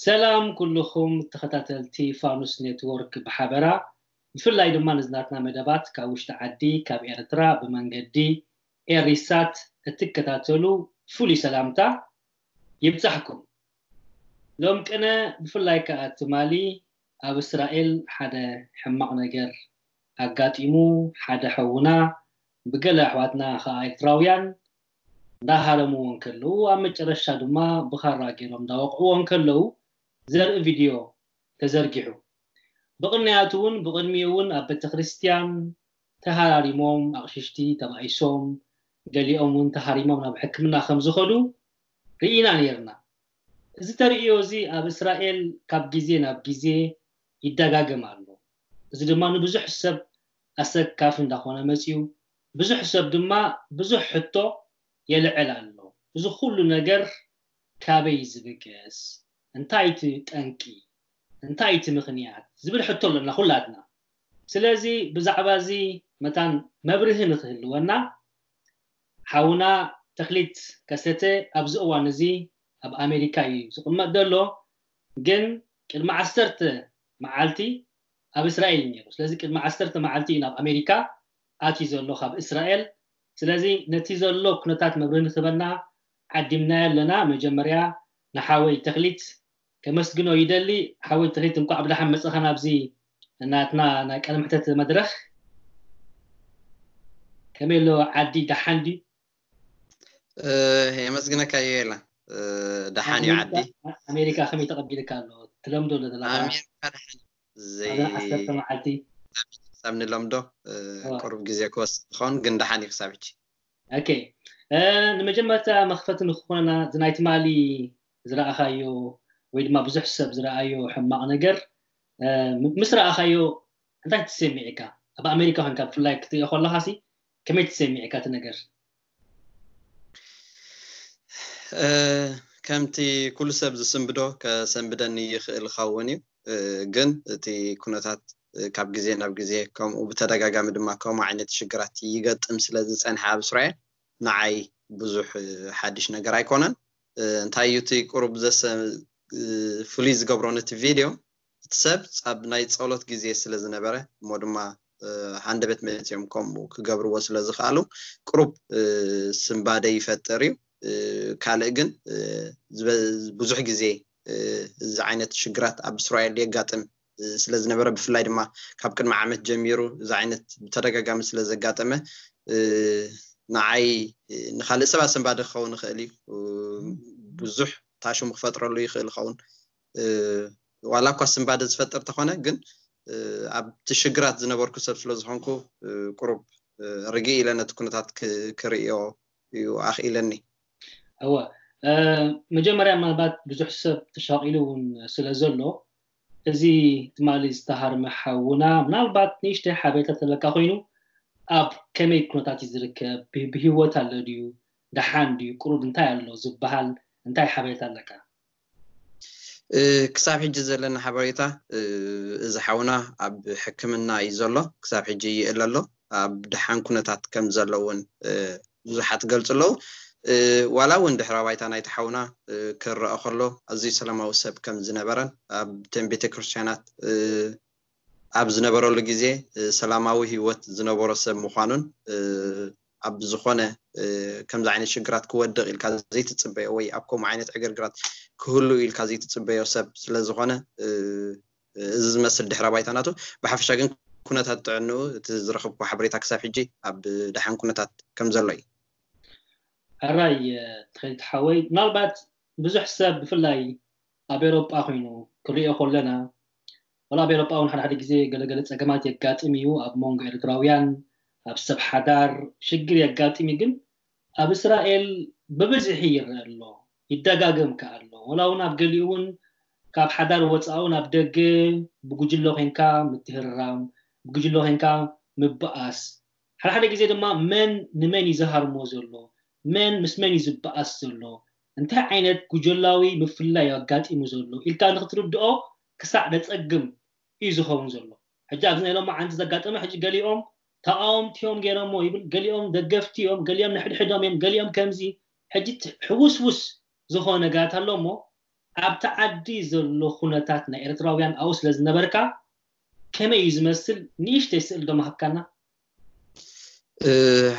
ሰላም ኩልኹም ተኸታተልቲ ፋኑስ ኔትወርክ ብሓበራ፣ ብፍላይ ድማ ነዚ ናትና መደባት ካብ ውሽጢ ዓዲ ካብ ኤርትራ ብመንገዲ ኤሪሳት እትከታተሉ ፍሉይ ሰላምታ ይብጻሕኩም። ሎም ቅነ ብፍላይ ከኣ ትማሊ ኣብ እስራኤል ሓደ ሕማቕ ነገር ኣጋጢሙ፣ ሓደ ሐውና ብገለ ኣሕዋትና ከኣ ኤርትራውያን እንዳሃረምዎ እንከለዉ፣ ኣብ መጨረሻ ድማ ብኻራ ገይሮም እንዳወቕዕዎ እንከለዉ ዘርኢ ቪድዮ ተዘርጊሑ። ብቕንያቱ እውን ብቕድሚኡ እውን ኣብ ቤተክርስትያን ተሃራሪሞም ኣቕሽሽቲ ተባኢሶም፣ ገሊኦም እውን ተሃሪሞም ናብ ሕክምና ከም ዝኸዱ ርኢና ነይርና። እዚ ተርእዮ እዚ ኣብ እስራኤል ካብ ግዜ ናብ ግዜ ይደጋገም ኣሎ። እዚ ድማ ንብዙሕ ሰብ ኣሰካፊ እንዳኾነ መጺኡ፣ ብዙሕ ሰብ ድማ ብዙሕ ሕቶ የልዕል ኣሎ። እዚ ኩሉ ነገር ካበይ ዝብገስ? እንታይ እቲ ጠንቂ? እንታይ እቲ ምኽንያት? ዝብል ሕቶ ኣለና ኩላትና። ስለዚ ብዛዕባ እዚ መታን መብርሂ ንኽህልወና ሓውና ተኽሊት ከሰተ ኣብዚ እዋን እዚ ኣብ ኣሜሪካ እዩ ዝቕመጥ ዘሎ። ግን ቅድሚ ዓሰርተ መዓልቲ ኣብ እስራኤል እዩ ነይሩ። ስለዚ ቅድሚ ዓሰርተ መዓልቲ እዩ ናብ ኣሜሪካ ኣትዩ ዘሎ ካብ እስራኤል። ስለዚ ነቲ ዘሎ ኩነታት መብርሂ ንኽበና ዓዲምናዮ ኣለና። መጀመርያ ንሓወይ ተኽሊት ከመስግኖ ይደሊ። ሓወይ ተኽሊት፣ እንኳዕ ብደሓን መጻኻ ናብዚ ናትና ናይ ቃለ መሕተት መድረኽ። ከመይ ኣሎ ዓዲ፣ ደሓን ድዩ? የመስግነካ ዮኤላ። ደሓን እዩ ዓዲ። ኣሜሪካ ከመይ ተቐቢልካ ኣሎ? ትለምዶ ዶ ዘለኻ? ኣሜሪካ ደሓን ዘይ ኣብዛ ዓሰርተ መዓልቲ ክሳብ ንለምዶ ቁሩብ ግዜ ክወስድ ይኸውን፣ ግን ደሓን እዩ ክሳብ ሕጂ። ኦኬ፣ ንመጀመርታ መኽፈቲ ንክኾነና፣ እዚ ናይ ትማሊ ዝረኣኻዮ ወይ ድማ ብዙሕ ሰብ ዝረኣዮ ሕማቕ ነገር ምስ ረኣኻዮ እንታይ ተሰሚዕካ? ኣብ ኣሜሪካ ኮንካ ብፍላይ ክትሪኦ ከለኻሲ ከመይ ተሰሚዕካ እቲ ነገር? ከምቲ ኩሉ ሰብ ዝስንብዶ ከሰንብደኒ ይኽእል ኸውን እዩ። ግን እቲ ኩነታት ካብ ግዜ ናብ ግዜ፣ ከምኡ ብተደጋጋሚ ድማ ከምኡ ዓይነት ሽግራት ይገጥም ስለ ዝጸንሐ ኣብ እስራኤል፣ ንዓይ ብዙሕ ሓድሽ ነገር ኣይኮነን። እንታይ እዩ እቲ ቁሩብ ዘሰ ፍሉይ ዝገብሮ ነቲ ቪድዮ፣ እቲ ሰብ ኣብ ናይ ጸሎት ግዜ ስለ ዝነበረ፣ እሞ ድማ ሃንደበት መጺኦም ከምኡ ክገብርዎ ስለ ዝኽኣሉ፣ ቁሩብ ስንባደ ይፈጥር እዩ። ካልእ ግን ብዙሕ ግዜ እዚ ዓይነት ሽግራት ኣብ እስራኤል የጋጥም ስለ ዝነበረ፣ ብፍላይ ድማ ካብ ቅድሚ ዓመት ጀሚሩ እዚ ዓይነት ብተደጋጋሚ ስለ ዘጋጠመ፣ ንዓይ ንኻልእ ሰባት ስንባደ ክኸውን ይኽእል እዩ። ብዙሕ ታሽሙ ክፈጥረሉ ይኽእል ይኸውን። ዋላ እኳ ስንባደ ዝፈጥር ተኾነ፣ ግን ኣብቲ ሽግራት ዝነበርኩ ሰብ ስለ ዝኾንኩ፣ ቁሩብ ርግእ ኢለ ነቲ ኩነታት ክርእዮ እዩ ኣኽኢለኒ። እወ፣ መጀመርያ ምናልባት ብዙሕ ሰብ ተሻቒሉ እውን ስለ ዘሎ፣ እዚ ትማሊ ዝተሃርመ ሓውና ምናልባት ንእሽተይ ሓበሬታ ተለካ ኮይኑ፣ ኣብ ከመይ ኩነታት እዩ ዝርከብ? ብህይወት ኣሎ ድዩ? ደሓን ድዩ? ቁሩብ እንታይ ኣሎ ዝበሃል እንታይ ሓበሬታ ኣለካ? ክሳብ ሕጂ ዘለና ሓበሬታ፣ እዚ ሓውና ኣብ ሕክምና እዩ ዘሎ። ክሳብ ሕጂ ይእለ ኣሎ። ኣብ ደሓን ኩነታት ከም ዘሎ እውን ብዙሓት ይገልጹ ኣለዉ። ዋላ እውን ድሕረ ባይታ ናይቲ ሓውና ክረኣ ከሎ፣ ኣዝዩ ሰላማዊ ሰብ ከም ዝነበረን ኣብተን ቤተክርስትያናት ኣብ ዝነበረሉ ግዜ ሰላማዊ ህይወት ዝነበሮ ሰብ ምዃኑን፣ ኣብ ዝኾነ ከምዚ ዓይነት ሽግራት ክወድቕ ኢልካ ዘይትጽበዮ ወይ ኣብ ከምኡ ዓይነት ዕግርግራት ክህሉ ኢልካ ዘይትጽበዮ ሰብ ስለ ዝኾነ፣ እዚ ዝመስል ድሕረ ባይታ ናቱ። ብሓፈሻ ግን ኩነታት ጥዕንኡ፣ እቲ ዝረኸብኩ ሓበሬታ ክሳብ ሕጂ ኣብ ደሓን ኩነታት ከም ዘሎ እዩ። ሕራይ ተኸሊት ሓወይ፣ ምናልባት ብዙሕ ሰብ ብፍላይ ኣብ ኤሮጳ ኮይኑ ክሪኦ ከለና፣ ወላ ኣብ ኤሮጳ እውን ሓደ ሓደ ግዜ ገለገለ ጸገማት የጋጥም እዩ። ኣብ መንጎ ኤርትራውያን፣ ኣብ ሰብ ሓዳር ሽግር የጋጥም እዩ። ግን ኣብ እስራኤል ብብዝሒ ይረአ ኣሎ፣ ይደጋገም ከኣ ኣሎ። ወላ እውን ኣብ ገሊኡ እውን ካብ ሓዳር ወጻኡ ናብ ደገ ብጉጅለ ኮንካ ምትህርራም፣ ብጉጅለ ኮንካ ምብኣስ፣ ሓደ ሓደ ግዜ ድማ መን ንመን እዩ ዝሃርሞ ዘሎ፣ መን ምስ መን እዩ ዝበኣስ ዘሎ፣ እንታይ ዓይነት ጉጀላዊ ምፍልላይ ኣጋጢሙ ዘሎ ኢልካ ንክትርድኦ ክሳዕ ደጸግም እዩ ዝኸውን ዘሎ። ሕጂ ኣብዚ ናይ ሎማዓንቲ ዘጋጠመ፣ ሕጂ ገሊኦም ተቓወምቲ እዮም ገይሮሞ ይብል፣ ገሊኦም ደገፍቲ እዮም፣ ገሊኦም ንሕድሕዶም እዮም፣ ገሊኦም ከምዚ። ሕጂ ሕውስውስ ዝኾነ ነገራት ኣሎ እሞ ኣብቲ ዓዲ ዘሎ ኩነታት ናይ ኤርትራውያን ኣብኡ ስለ ዝነበርካ ከመይ እዩ ዝመስል? ንእሽተይ ስእል ዶ ምሃብካና?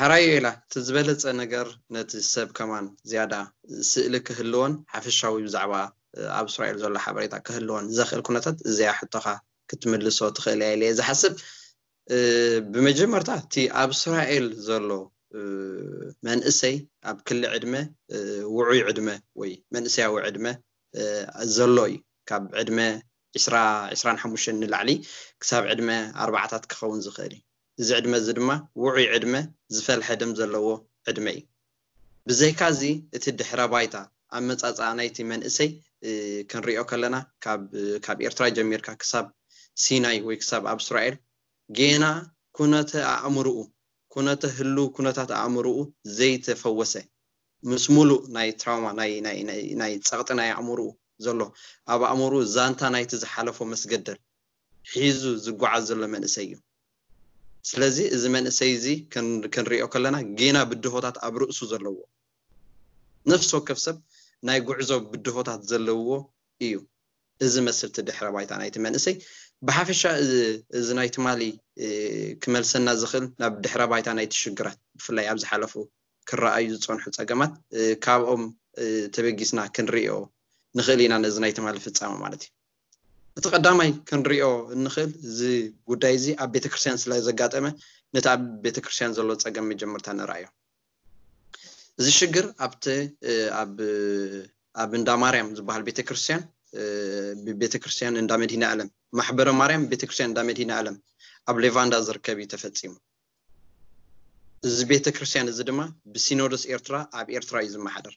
ሕራይ ኢላ እቲ ዝበለፀ ነገር ነቲ ሰብ ከማን ዝያዳ ስእሊ ክህልዎን ሓፈሻዊ ብዛዕባ ኣብ እስራኤል ዘሎ ሓበሬታ ክህልዎን ዘኽእል ኩነታት እዚኣ ሕቶኻ ክትምልሶ ትኽእል እያ ኢለ እየ ዝሓስብ። ብመጀመርታ እቲ ኣብ እስራኤል ዘሎ መንእሰይ ኣብ ክሊ ዕድመ ውዑይ ዕድመ ወይ መንእሰያዊ ዕድመ ዘሎ እዩ። ካብ ዕድመ ዕስራ ዕስራን ሓሙሽተን ንላዕሊ ክሳብ ዕድመ ኣርባዓታት ክኸውን ዝኽእል እዩ። እዚ ዕድመ እዚ ድማ ውዑይ ዕድመ ዝፈልሐ ደም ዘለዎ ዕድመ እዩ። ብዘይካ እዚ እቲ ድሕረ ባይታ ኣመፃፅኣ ናይቲ መንእሰይ ክንሪኦ ከለና ካብ ኤርትራ ጀሚርካ ክሳብ ሲናይ ወይ ክሳብ ኣብ እስራኤል ጌና ኩነተ ኣእምርኡ ኩነተ ህሉ ኩነታት ኣእምርኡ ዘይተፈወሰ ምስ ሙሉእ ናይ ትራውማ ናይ ጸቕጢ ናይ ኣእምርኡ ዘሎ ኣብ ኣእምርኡ ዛንታ ናይቲ ዝሓለፎ መስገደል ሒዙ ዝጓዓዝ ዘሎ መንእሰይ እዩ። ስለዚ እዚ መንእሰይ እዚ ክንሪኦ ከለና ጌና ብድሆታት ኣብ ርእሱ ዘለዎ ነፍሲ ወከፍ ሰብ ናይ ጉዕዞ ብድሆታት ዘለዎ እዩ። እዚ መስልቲ ድሕረ ባይታ ናይቲ መንእሰይ ብሓፈሻ እዚ ናይ ትማሊ ክመልሰና ዝኽእል ናብ ድሕረ ባይታ ናይቲ ሽግራት ብፍላይ ኣብ ዝሓለፉ ክረኣዩ ዝፀንሑ ፀገማት ካብኦም ተበጊስና ክንሪኦ ንኽእል ኢና። ነዚ ናይ ትማሊ ፍፃመ ማለት እዩ። እቲ ቀዳማይ ክንሪኦ እንኽእል እዚ ጉዳይ እዚ ኣብ ቤተክርስትያን ስለ ዘጋጠመ ነቲ ኣብ ቤተክርስትያን ዘሎ ፀገም መጀመርታ ንረኣዮ። እዚ ሽግር ኣብቲ ኣብ እንዳ ማርያም ዝበሃል ቤተክርስትያን ብቤተክርስትያን እንዳ መድሂነ ኣለም ማሕበረ ማርያም ቤተክርስትያን እንዳ መድሂነ ኣለም ኣብ ሌቫንዳ ዝርከብ እዩ ተፈፂሙ። እዚ ቤተክርስትያን እዚ ድማ ብሲኖዶስ ኤርትራ ኣብ ኤርትራ እዩ ዝመሓደር።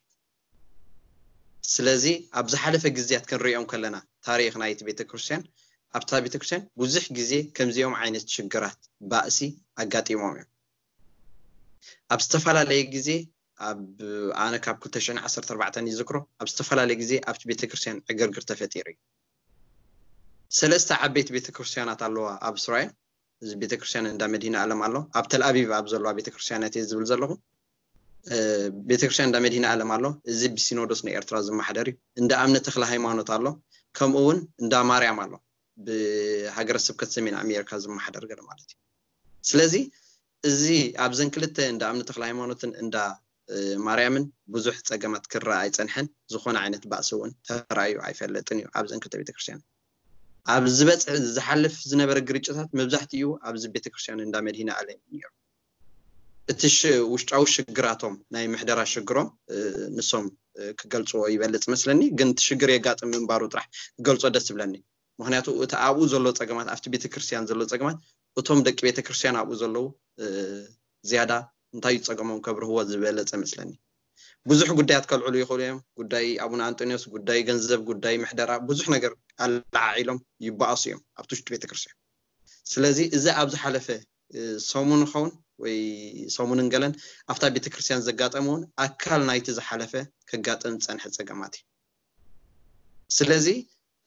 ስለዚ ኣብ ዝሓለፈ ግዜያት ክንሪኦም ከለና ታሪክ ናይቲ ቤተክርስትያን ኣብታ ቤተክርስትያን ብዙሕ ግዜ ከምዚኦም ዓይነት ሽግራት ባእሲ ኣጋጢሞም እዮም። ኣብ ዝተፈላለየ ግዜ ኣብ ኣነ ካብ ክልተ ሽሕን ዓሰርተ ኣርባዕተን ይዝክሮ ኣብ ዝተፈላለየ ግዜ ኣብቲ ቤተክርስትያን ዕግርግር ተፈጢሩ እዩ። ሰለስተ ዓበይቲ ቤተክርስትያናት ኣለዋ ኣብ እስራኤል። እዚ ቤተክርስትያን እንዳ መድሂነ ኣለም ኣሎ። ኣብ ተልኣቢብ ኣብ ዘለዋ ቤተክርስትያናት እየ ዝብል ዘለኹ። ቤተክርስትያን እንዳ መድሂነ ኣለም ኣሎ። እዚ ብሲኖዶስ ናይ ኤርትራ ዝመሓደር እዩ። እንዳ ኣምነ ተክለ ሃይማኖት ኣሎ። ከምኡ እውን እንዳ ማርያም ኣሎ። ብሃገረ ስብከት ሰሜን ኣሜሪካ ዝመሓደር ገለ ማለት እዩ። ስለዚ እዚ ኣብዘን ክልተ እንዳ ኣምነ ተክለ ሃይማኖትን እንዳ ማርያምን ብዙሕ ፀገማት ክረኣ ኣይፀንሐን። ዝኾነ ዓይነት ባእሲ እውን ተራእዩ ኣይፈለጥን እዩ። ኣብዘን ክልተ ቤተክርስትያን ኣብ ዝበፅሕ ዝሓልፍ ዝነበረ ግርጭታት መብዛሕትኡ ኣብዚ ቤተክርስትያን እንዳ መድሂነ ኣለም እዩ ነይሩ። እቲ ውሽጣዊ ሽግራቶም ናይ ምሕደራ ሽግሮም ንሶም ክገልፅዎ ይበልፅ መስለኒ። ግን እቲ ሽግር የጋጥም ምንባሩ ጥራሕ ክገልፆ ደስ ይብለኒ። ምክንያቱ እቲ ኣብኡ ዘሎ ፀገማት ኣብቲ ቤተክርስትያን ዘሎ ፀገማት እቶም ደቂ ቤተክርስትያን ኣብኡ ዘለዉ ዝያዳ እንታይ እዩ ፀገሞም ከብርህዎ ዝበለፀ መስለኒ። ብዙሕ ጉዳያት ከልዕሉ ይኽእሉ እዮም። ጉዳይ ኣቡነ ኣንጦኒዎስ፣ ጉዳይ ገንዘብ፣ ጉዳይ ምሕደራ፣ ብዙሕ ነገር ኣለዓዒሎም ይበኣሱ እዮም ኣብቲ ውሽጢ ቤተክርስትያን። ስለዚ እዚ ኣብ ዝሓለፈ ሰሙን ኸውን ወይ ሰሙንን ገለን ኣብታ ቤተክርስትያን ዘጋጠመ እውን ኣካል ናይቲ ዝሓለፈ ከጋጥም ዝፀንሐ ፀገማት እዩ። ስለዚ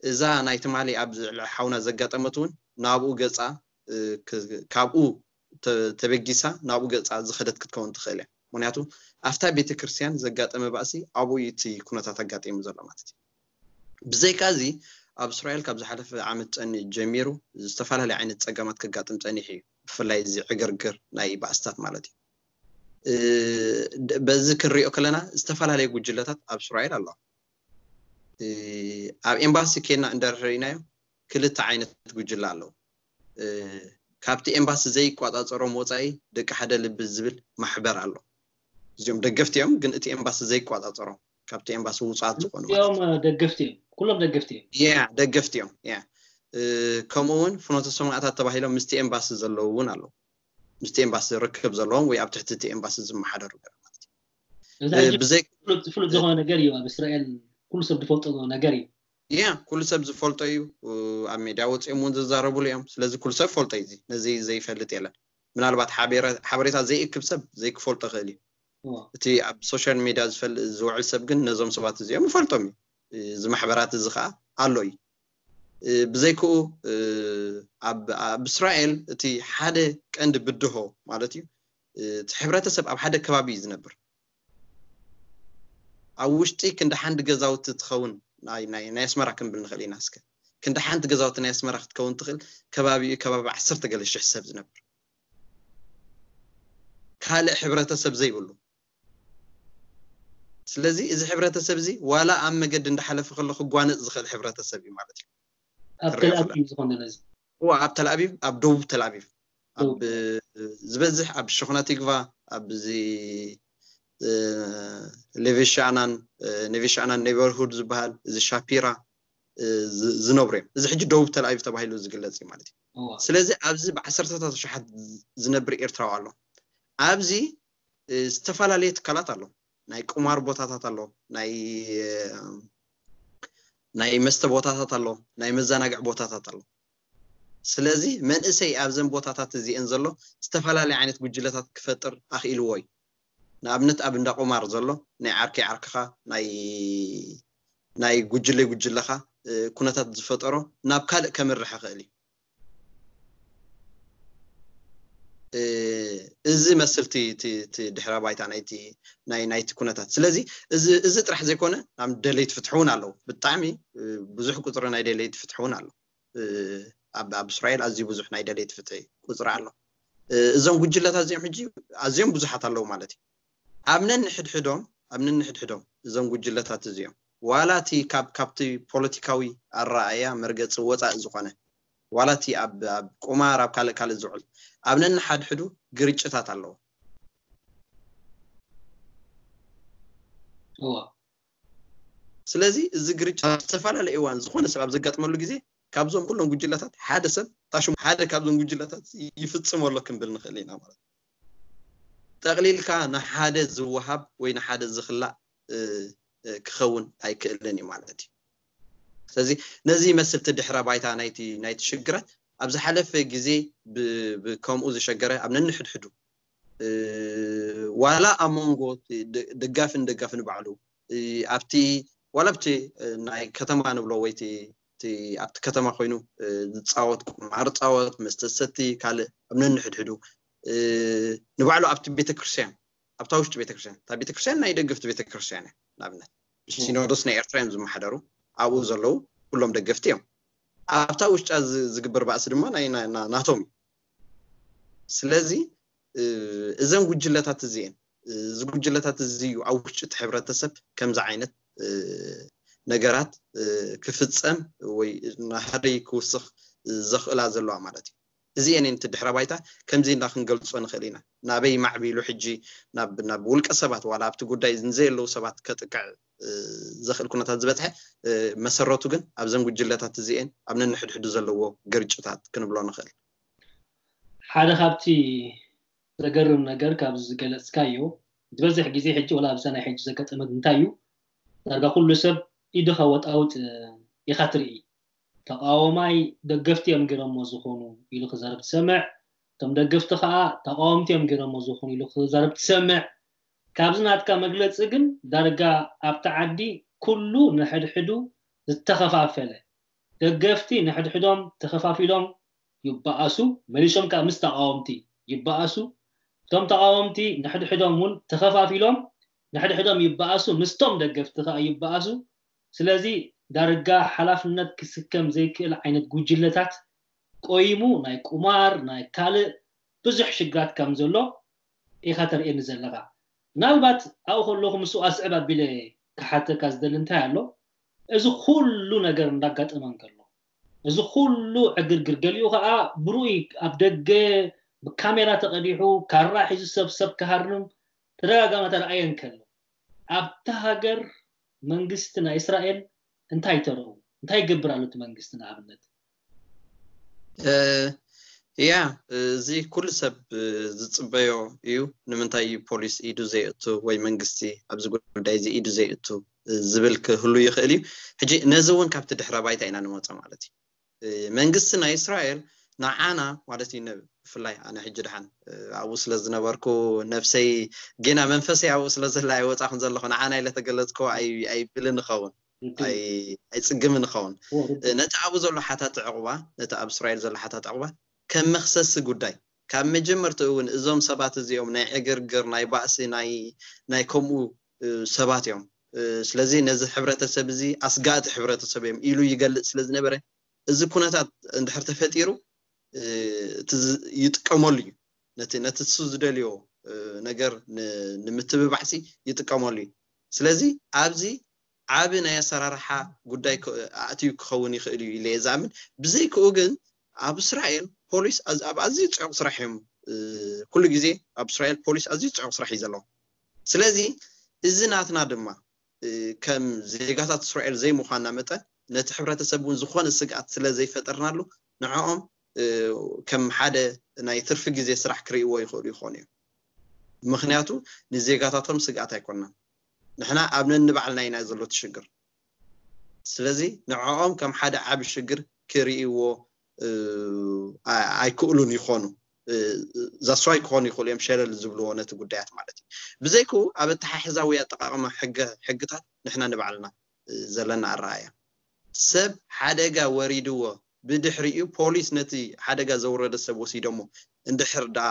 እዛ ናይ ትማሊ ኣብ ሓውና ዘጋጠመት እውን ናብኡ ገፃ ካብኡ ተበጊሳ ናብኡ ገፃ ዝኸደት ክትከውን ትኽእል እያ። ምክንያቱ ኣብታ ቤተክርስትያን ዘጋጠመ ባእሲ ኣብኡ እቲ ኩነታት ኣጋጢሙ ዘሎ ማለት እዩ። ብዘይካ እዚ ኣብ እስራኤል ካብ ዝሓለፈ ዓመት ፀኒ ጀሚሩ ዝተፈላለዩ ዓይነት ፀገማት ከጋጥም ፀኒሑ እዩ። ብፍላይ እዚ ዕግርግር ናይ ባእስታት ማለት እዩ። በዚ ክንሪኦ ከለና ዝተፈላለዩ ጉጅለታት ኣብ እስራኤል ኣለዋ። ኣብ ኤምባሲ ኬና እንደርኢናዮ ክልተ ዓይነት ጉጅለ ኣለዉ። ካብቲ ኤምባሲ ዘይቋፃፀሮም ወፃኢ ደቂ ሓደ ልቢ ዝብል ማሕበር ኣሎ። እዚኦም ደገፍቲ እዮም፣ ግን እቲ ኤምባሲ ዘይቋፃፀሮም ካብቲ ኤምባሲ ውፃት ዝኾኑ ማለት እዮም። ደገፍቲ እዮም፣ ኩሎም ደገፍቲ እዮም። ያ ደገፍቲ እዮም። ያ ከምኡ እውን ፍኖተ ሰማእታት ተባሂሎም ምስቲ ኤምባሲ ዘለዉ እውን ኣለዉ። ምስቲ ኤምባሲ ርክብ ዘለዎም ወይ ኣብ ትሕቲ እቲ ኤምባሲ ዝመሓደሩ ገለ ማለት እዩ። እዚ ሕጂ ብዘይ ፍሉጥ ፍሉጥ ዝኾነ ነገር እዩ። ኣብ እስራኤል ኩሉ ሰብ ዝፈልጦ ነገር እዩ። ያ ኩሉ ሰብ ዝፈልጦ እዩ። ኣብ ሜድያ ወፂኦም እውን ዝዛረብሉ እዮም። ስለዚ ኩሉ ሰብ ፈልጦ እዩ። እዚ ነዚ ዘይፈልጥ የለን። ምናልባት ሓበሬታ ዘይእክብ ሰብ ዘይክፈልጦ ይኽእል እዩ። እቲ ኣብ ሶሻል ሜድያ ዝውዕል ሰብ ግን ነዞም ሰባት እዚኦም ይፈልጦም እዩ። እዚ ማሕበራት እዚ ከዓ ኣሎ እዩ። ብዘይክኡ ኣብ እስራኤል እቲ ሓደ ቀንዲ ብድሆ ማለት እዩ እቲ ሕብረተሰብ ኣብ ሓደ ከባቢ እዩ ዝነብር። ኣብ ውሽጢ ክንዲ ሓንዲ ገዛውቲ ትኸውን ናይ ናይ ናይ ኣስመራ ክንብል ንኽእል ኢና። እስከ ክንዲ ሓንቲ ገዛውቲ ናይ ኣስመራ ክትከውን ትኽእል፣ ከባቢኡ ከባቢ ዓሰርተ ገለ ሽሕ ሰብ ዝነብር፣ ካልእ ሕብረተሰብ ዘይብሉ። ስለዚ እዚ ሕብረተሰብ እዚ ዋላ ኣብ መገዲ እንዳሓለፈ ከሎ ክጓነጽ ዝኽእል ሕብረተሰብ እዩ ማለት እዩ። ኣብ ክሪኦ ተልኣቢብ ከለና። ዝኾነ ነዚ እዋ ኣብ ተልኣቢብ፣ ኣብ ደቡብ ተልኣቢብ፣ ኣብ ዝበዝሕ ኣብ ሸኾና ቲግቫ፣ ኣብዚ ሌቬሻናን ኔቬሻናን ኔበርሁድ ዝበሃል፣ እዚ ሻፒራ ዝነብሩ እዮም። እዚ ሕጂ ደቡብ ተልኣቢብ ተባሂሉ ዝግለጽ እዩ ማለት እዩ። ስለዚ ኣብዚ ብዓሰርተታት ሸሓት ዝነብር ኤርትራዊ ኣሎ። ኣብዚ ዝተፈላለየ ትካላት ኣሎ። ናይ ቁማር ቦታታት ኣሎ፣ ናይ ናይ መስተ ቦታታት ኣሎ፣ ናይ መዘናግዒ ቦታታት ኣሎ። ስለዚ መንእሰይ ኣብዘን ቦታታት እዚአን ዘሎ ዝተፈላለየ ዓይነት ጉጅለታት ክፈጥር ኣኽኢልዎ እዩ። ንኣብነት ኣብ እንዳ ቁማር ዘሎ ናይ ዓርከይ ዓርክኻ ናይ ናይ ጉጅለይ ጉጅለኻ ኩነታት ዝፈጠሮ ናብ ካልእ ከምርሕ ይኽእል እዩ። እዚ መስል እቲ ድሕረ ባይታ ናይቲ ኩነታት። ስለዚ እዚ ጥራሕ ዘይኮነ ኣብ ደለይቲ ፍትሒ እውን ኣለዉ። ብጣዕሚ ብዙሕ ቁፅሪ ናይ ደለይቲ ፍትሒ እውን ኣሎ። ኣብ እስራኤል ኣዝዩ ብዙሕ ናይ ደለይቲ ፍትሒ ቁፅሪ ኣሎ። እዞም ጉጅለታት እዚኦም ሕጂ ኣዝዮም ብዙሓት ኣለዉ ማለት እዩ። ኣብ ነንሕድሕዶም ኣብ ነንሕድሕዶም እዞም ጉጅለታት እዚኦም ዋላ እቲ ካብ ካብቲ ፖለቲካዊ ኣረኣእያ መርገፂ ወፃኢ ዝኾነ ዋላ እቲ ኣብ ኣብ ቁማር ኣብ ካልእ ካልእ ዝውዕል ኣብ ነንሓድሕዱ ግርጭታት ኣለዎ። ስለዚ እዚ ግርጭት ኣብ ዝተፈላለየ እዋን ዝኾነ ሰብ ኣብ ዘጋጥመሉ ግዜ ካብዞም ኩሎም ጉጅለታት ሓደ ሰብ ታሽሙ ሓደ ካብዞም ጉጅለታት ይፍፅሞ ኣሎ ክንብል ንኽእል ኢና ማለት እዩ። ጠቕሊልካ ንሓደ ዝወሃብ ወይ ንሓደ ዝኽላእ ክኸውን ኣይክእልን እዩ ማለት እዩ። ስለዚ ነዚ ይመስል እቲ ድሕረ ባይታ ናይቲ ናይቲ ሽግራት ኣብ ዝሓለፈ ግዜ ከምኡ ዝሸገረ ኣብ ነንሕድሕዱ ዋላ ኣብ መንጎ ደጋፍን ደጋፍን ባዕሉ ኣብቲ ዋላ ኣብቲ ናይ ከተማ ንብሎ ወይ ኣብቲ ከተማ ኮይኑ ዝፃወት ቁማር ፃወት መስተ ሰቲ ካልእ ኣብ ነንሕድሕዱ ንባዕሉ ኣብቲ ቤተክርስትያን ኣብታ ውሽጢ ቤተክርስትያን እታ ቤተክርስትያን ናይ ደገፍቲ ቤተክርስትያን እያ። ንኣብነት ሲኖዶስ ናይ ኤርትራ እዮም ዝመሓደሩ፣ ኣብኡ ዘለዉ ኩሎም ደገፍቲ እዮም። ኣብታ ውሽጣ ዝግበር ባእሲ ድማ ናይ ናቶም እዩ። ስለዚ እዘን ጉጅለታት እዚኤን እዚ ጉጅለታት እዚ እዩ ኣብ ውሽጢ እቲ ሕብረተሰብ ከምዚ ዓይነት ነገራት ክፍፀም ወይ ናህደይ ክውስኽ ዘኽእላ ዘለዋ ማለት እዩ። እዚኤን እቲ ድሕረ ባይታ ከምዚ ኢልና ክንገልፆ ንኽእል ኢና። ናበይ ማዕቢሉ ሕጂ ናብ ናብ ውልቀ ሰባት ዋላ ኣብቲ ጉዳይ ንዘየለዉ ሰባት ከጥቅዕ ዘኽእል ኩነታት ዝበፅሐ መሰረቱ ግን ኣብዘን ጉጅለታት እዚኤን ኣብ ነንሕድሕዱ ዘለዎ ግርጭታት ክንብሎ ንኽእል። ሓደ ካብቲ ዘገርም ነገር ካብዚ ዝገለፅካዮ ዝበዝሕ ግዜ ሕጂ ወላ ኣብዛ ናይ ሕጂ ዘጋጠመት እንታይ እዩ ዳርጋ ኩሉ ሰብ ኢዱ ከወጣውጥ ኢኻ ትርኢ። ተቃዋማይ ደገፍቲ እዮም ገይሮሞ ዝኾኑ ኢሉ ክዛረብ ትሰምዕ። እቶም ደገፍቲ ከዓ ተቃወምቲ እዮም ገይሮሞ ዝኾኑ ኢሉ ክዛረብ ትሰምዕ። ካብዚ ናትካ መግለፂ ግን ዳርጋ ኣብቲ ዓዲ ኩሉ ንሕድሕዱ ዝተኸፋፈለ ደገፍቲ ንሕድሕዶም ተኸፋፊሎም ይበኣሱ፣ መሊሶም ከዓ ምስ ተቃወምቲ ይበኣሱ። እቶም ተቃወምቲ ንሕድሕዶም እውን ተኸፋፊሎም ንሕድሕዶም ይበኣሱ፣ ምስቶም ደገፍቲ ከዓ ይበኣሱ። ስለዚ ዳርጋ ሓላፍነት ክስከም ዘይክእል ዓይነት ጉጅለታት ቆይሙ ናይ ቁማር ናይ ካልእ ብዙሕ ሽግራት ከም ዘሎ ኢኻ ተርእየኒ ዘለኻ። ምናልባት ኣብኡ ከለኹ ምስኡ ኣስዕብ ኣቢለ ክሓተካ ዝደሊ እንታይ ኣሎ፣ እዚ ኩሉ ነገር እንዳጋጠመ እንከሎ፣ እዚ ኩሉ ዕግርግር፣ ገሊኡ ከዓ ብርኡይ ኣብ ደገ ብካሜራ ተቐዲሑ ካራ ሒዙ ሰብ ሰብ ክሃርም ተደጋጋሚ ተረኣየ እንከሎ፣ ኣብታ ሃገር መንግስቲ ናይ እስራኤል እንታይ ተረኡ? እንታይ ይገብር ኣሎ እቲ መንግስቲ ንኣብነት? ያ እዚ ኩሉ ሰብ ዝፅበዮ እዩ። ንምንታይ እዩ ፖሊስ ኢዱ ዘየእቱ ወይ መንግስቲ ኣብዚ ጉዳይ እዚ ኢዱ ዘየእቱ ዝብል ክህሉ ይኽእል እዩ። ሕጂ ነዚ እውን ካብቲ ድሕረ ባይታ ኢና ንመፆ ማለት እዩ። መንግስቲ ናይ እስራኤል ንዓና ማለት እዩ ብፍላይ ኣነ ሕጂ ድሓን ኣብኡ ስለ ዝነበርኩ ነብሰይ ጌና መንፈሰይ ኣብኡ ስለ ዘላ ኣይወፃኹን ዘለኹ ንዓና ኢለ ተገለፅኩ ኣይብልን ይኸውን ኣይፅግምን ይኸውን። ነቲ ኣብኡ ዘሎ ሓታት ዕቑባ ነቲ ኣብ እስራኤል ዘሎ ሓታት ዕቑባ ከም መክሰሲ ጉዳይ ካብ መጀመርትኡ እውን እዞም ሰባት እዚኦም ናይ ዕግርግር ናይ ባእሲ ናይ ከምኡ ሰባት እዮም ስለዚ ነዚ ሕብረተሰብ እዚ ኣስጋእቲ ሕብረተሰብ እዮም ኢሉ ይገልጽ ስለ ዝነበረ፣ እዚ ኩነታት እንድሕር ተፈጢሩ፣ እቲ ይጥቀመሉ እዩ። ነቲ ነቲ እሱ ዝደልዮ ነገር ንምትብባዕሲ ይጥቀመሉ እዩ። ስለዚ ኣብዚ ዓቢ ናይ ኣሰራርሓ ጉዳይ ኣእትዩ ክኸውን ይኽእል እዩ ኢለ ዝኣምን። ብዘይክኡ ግን ኣብ እስራኤል ፖሊስ ኣብ ኣዝዩ ጽዑቕ ስራሕ እዮም። ኩሉ ግዜ ኣብ እስራኤል ፖሊስ ኣዝዩ ጽዑቕ ስራሕ እዩ ዘለዎ። ስለዚ እዚ ናትና ድማ ከም ዜጋታት እስራኤል ዘይምዃንና መጠን፣ ነቲ ሕብረተሰብ እውን ዝኾነ ስግኣት ስለ ዘይፈጠርናሉ፣ ንዕኦም ከም ሓደ ናይ ትርፊ ግዜ ስራሕ ክርእይዎ ይኽእሉ ይኾኑ እዮም። ምኽንያቱ ንዜጋታቶም ስግኣት ኣይኮንናን። ንሕና ኣብ ነንባዕልና ኢና ዘሎ እቲ ሽግር። ስለዚ ንዕኦም ከም ሓደ ዓቢ ሽግር ክርእይዎ ኣይክእሉን ይኾኑ። ዛስዋይ ክኾኑ ይኽእሉ እዮም ሸለል ዝብልዎ ነቲ ጉዳያት ማለት እዩ። ብዘይክኡ ኣብ ኣተሓሕዛዊ ኣጠቃቕማ ሕግታት ንሕና ንባዕልና ዘለና ኣረኣያ። ሰብ ሓደጋ ወሪድዎ ብድሕሪኡ ፖሊስ ነቲ ሓደጋ ዘውረደ ሰብ ወሲዶሞ እንድሕር ደኣ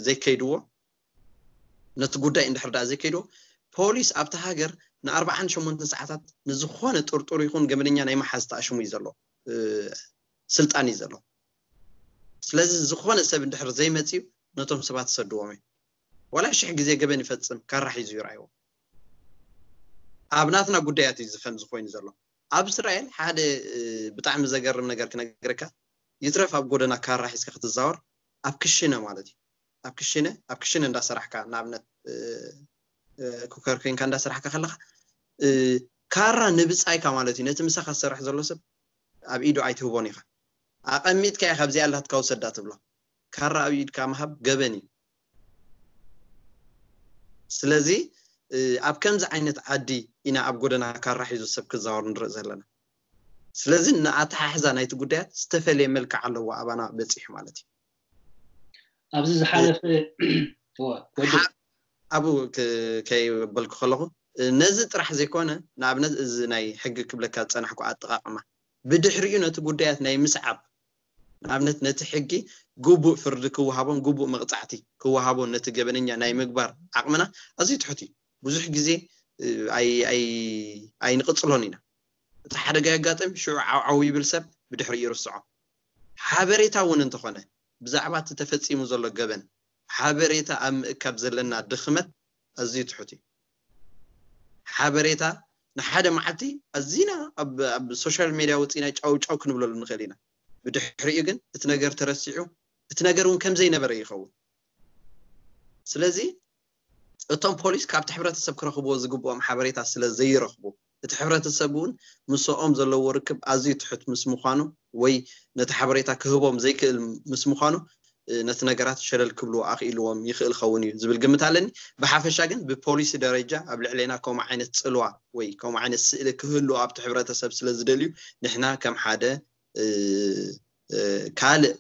ዘይከይድዎ፣ ነቲ ጉዳይ እንድሕር ደኣ ዘይከይድዎ፣ ፖሊስ ኣብቲ ሃገር ንኣርባዓን ሸሞንተን ሰዓታት ንዝኾነ ጥርጡር ይኹን ገበነኛ ናይ መሓዝ ተኣሽሙ እዩ ዘሎ ስልጣን እዩ ዘሎ። ስለዚ ዝኾነ ሰብ እንድሕር ዘይመፅዩ ነቶም ሰባት ሰድዎም እዩ። ዋላ ሽሕ ግዜ ገበን ይፈፅም ካራ ሒዙ ይረኣይዎ። ኣብ ናትና ጉዳያት እዩ ዝፈን ዝኾይኑ ዘሎ። ኣብ እስራኤል ሓደ ብጣዕሚ ዘገርም ነገር ክነግረካ፣ ይትረፍ ኣብ ጎደና ካራ ሒዝካ ክትዛወር፣ ኣብ ክሽነ ማለት እዩ፣ ኣብ ክሽነ ኣብ ክሽነ እንዳሰራሕካ፣ ንኣብነት ኩከር ኮይንካ እንዳሰራሕካ ከለካ፣ ካራ ንብጻይካ ማለት እዩ፣ ነቲ ምሳኻ ዝሰርሕ ዘሎ ሰብ ኣብ ኢዱ ኣይትህቦን ኢኻ። ኣቐሚጥካ ኢኻ፣ ኣብዚኣ ኣላትካ ውሰዳ ትብሎ። ካራ ኣብ ኢድካ ምሃብ ገበን እዩ። ስለዚ ኣብ ከምዚ ዓይነት ዓዲ ኢና ኣብ ጎደና ካራ ሒዙ ሰብ ክዛወር ንርኢ ዘለና። ስለዚ ንኣተሓሕዛ ናይቲ ጉዳያት ዝተፈለየ መልክዕ ኣለዎ ኣባና በፂሑ ማለት እዩ። ኣብዚ ዝሓለፈ ኣብኡ ከይበልኩ ከለኹ፣ ነዚ ጥራሕ ዘይኮነ፣ ንኣብነት እዚ ናይ ሕጊ ክብለካ ዝፀናሕኩ ኣጠቃቅማ፣ ብድሕሪኡ ነቲ ጉዳያት ናይ ምስዓብ፣ ንኣብነት ነቲ ሕጊ ግቡእ ፍርዲ ክወሃቦን ግቡእ መቕፃዕቲ ክወሃቦን ነቲ ገበነኛ ናይ ምግባር ዓቕምና ኣዝዩ ትሑት እዩ። ብዙሕ ግዜ ኣይንቕፅሎን ኢና። እቲ ሓደጋ የጋጥም፣ ሽዑ ዓውዓው ይብል ሰብ፣ ብድሕሪኡ ይርስዖ። ሓበሬታ እውን እንተኾነ ብዛዕባ እቲ ተፈፂሙ ዘሎ ገበን ሓበሬታ ኣብ ምእካብ ዘለና ድኽመት ኣዝዩ ትሑት እዩ። ሓበሬታ ንሓደ መዓልቲ ኣዚና ኣብ ሶሻል ሜድያ ወፂና ጫው ጫው ክንብለሉ ንኽእል ኢና። ብድሕሪኡ ግን እቲ ነገር ተረሲዑ፣ እቲ ነገር እውን ከምዘይነበረ ይኸውን። ስለዚ እቶም ፖሊስ ካብቲ ሕብረተሰብ ክረኽብዎ ዝግብኦም ሓበሬታ ስለ ዘይረኽቡ፣ እቲ ሕብረተሰብ እውን ምስኦም ዘለዎ ርክብ ኣዝዩ ትሑት ምስ ምዃኑ ወይ ነቲ ሓበሬታ ክህቦም ዘይክእል ምስ ምዃኑ፣ ነቲ ነገራት ሸለል ክብልዎ ኣኽኢልዎም ይኽእል ኸውን እዩ ዝብል ግምት ኣለኒ። ብሓፈሻ ግን ብፖሊሲ ደረጃ ኣብ ልዕሌና ከምኡ ዓይነት ጽልዋ ወይ ከምኡ ዓይነት ስእሊ ክህልዎ ኣብቲ ሕብረተሰብ ስለ ዝደልዩ፣ ንሕና ከም ሓደ ካልእ